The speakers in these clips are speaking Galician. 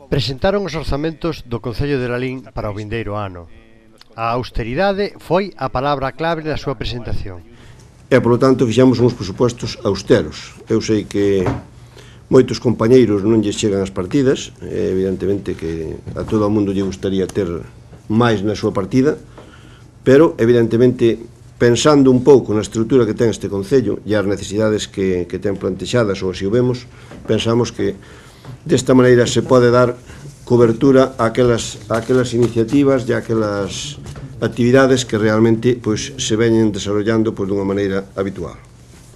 Presentaron os orzamentos do Concello de Lalín para o vindeiro ano. A austeridade foi a palabra clave na súa presentación. E, polo tanto, fixemos uns presupostos austeros. Eu sei que moitos compañeiros non lles chegan as partidas, evidentemente que a todo o mundo lle gustaría ter máis na súa partida, pero, evidentemente, pensando un pouco na estrutura que ten este Concello e as necesidades que ten plantexadas, ou así o vemos, pensamos que desta maneira se pode dar cobertura a aquelas iniciativas e a aquelas actividades que realmente se veñen desarrollando dunha maneira habitual.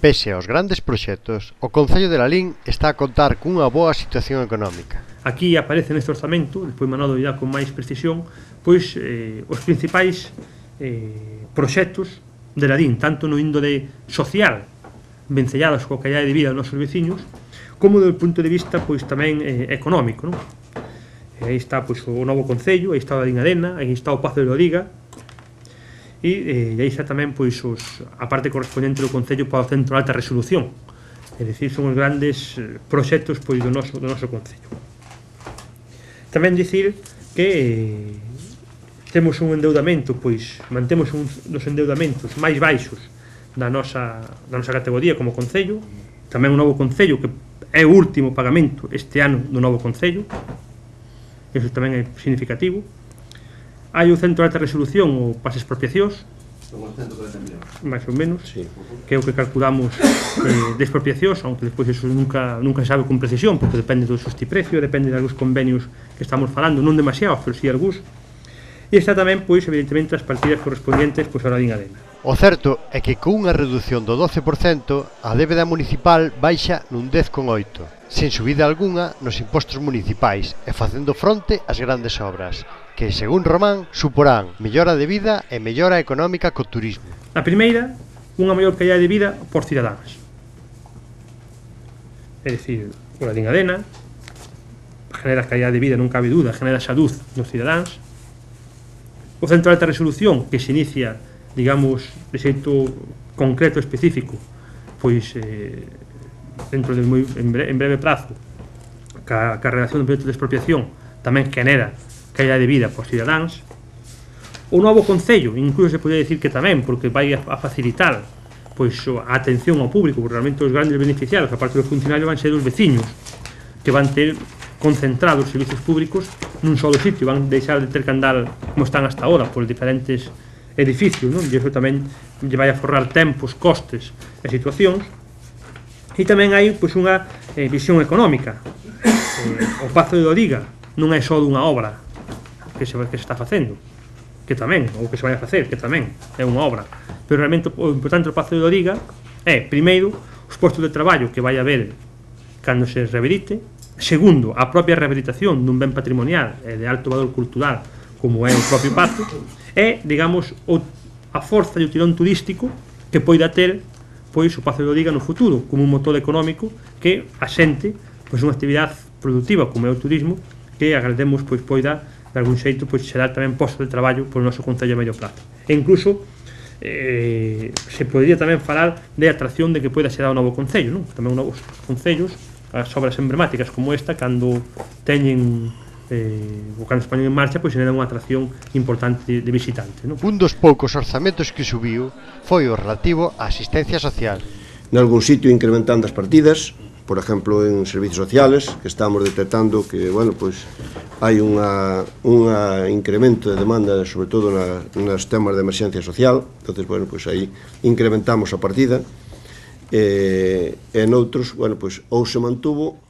Pese aos grandes proxectos, o Concello de Lalín está a contar cunha boa situación económica. Aquí aparece neste orzamento, despois Manolo irá con máis precisión, os principais proxectos de Lalín, tanto no índole social, vencellados coa calidade de vida dos nosos veciños, como do punto de vista tamén económico, non? Aí está o novo Concello, aí está a Ladingadena, aí está o Pazo de Loriga, e aí está tamén a parte correspondente do Concello para o Centro de Alta Resolución. É dicir, son os grandes proxectos do noso Concello. Tamén dicir que temos un endeudamento, mantemos un dos endeudamentos máis baixos da nosa categoría como Concello, tamén un novo Concello que é o último pagamento este ano do novo Concello, iso tamén é significativo. Hai o Centro de Alta Resolución, ou para as expropiacións, máis ou menos, que é o que calculamos de expropiacións, aunque despois iso nunca se sabe con precisión, porque depende do xustiprecio, depende de algúns convenios que estamos falando, non demasiados, pero si algúns. E está tamén, evidentemente, as partidas correspondientes a Ladingadena. O certo é que cunha reducción do 12% a débeda municipal baixa nun 10,8%, sen subida algunha nos impostos municipais e facendo fronte ás grandes obras, que, según Román, suporán mellora de vida e mellora económica co turismo. A primeira, unha maior calidade de vida por cidadáns. É dicir, o Ladingadena genera calidade de vida, non cabe dúda, genera salud nos cidadáns. O Centro de Alta Resolución, que se inicia, digamos, de xeito concreto e específico, dentro de en breve prazo, ca redacción do proxecto de expropiación, tamén genera calidade de vida por cidadáns. O novo Concello, incluso se podría dicir que tamén, porque vai a facilitar a atención ao público, porque realmente os grandes beneficiados, aparte dos funcionarios, van ser os veciños, que van ter concentrados os servicios públicos nun solo sitio, van deixar de ter que andar como están hasta ahora por diferentes edificios, non? E iso tamén lle vai a forrar tempos, costes e situacións. E tamén hai unha visión económica. O Pazo de Loriga non é só dunha obra que se está facendo, que tamén, ou que se vai a facer, que tamén é unha obra, pero realmente o importante do Pazo de Loriga é, primeiro, os postos de traballo que vai haber cando se rehabilite. Segundo, a propia rehabilitación dun ben patrimonial e de alto valor cultural como é o propio Pazo, e, digamos, a forza e o tirón turístico que poida ter o Pazo de Loriga no futuro, como un motor económico que asente unha actividade productiva como é o turismo, que agradecemos poida de algún xeito xerar tamén postos de traballo polo noso Concello a medio prazo. E incluso se podería tamén falar de atracción de que poida xerar o novo Concello, non? Tamén novos concellos, as obras emblemáticas como esta, cando teñen ou cando se poñen en marcha, generan unha atracción importante de visitantes, non? Un dos poucos orzamentos que subiu foi o relativo á asistencia social. Nalgún sitio incrementando as partidas, por exemplo, en servicios sociales, que estamos detectando que, hai un incremento de demanda, sobre todo nos temas de emerxencia social, entonces, aí incrementamos a partida, e noutros, ou se mantuvo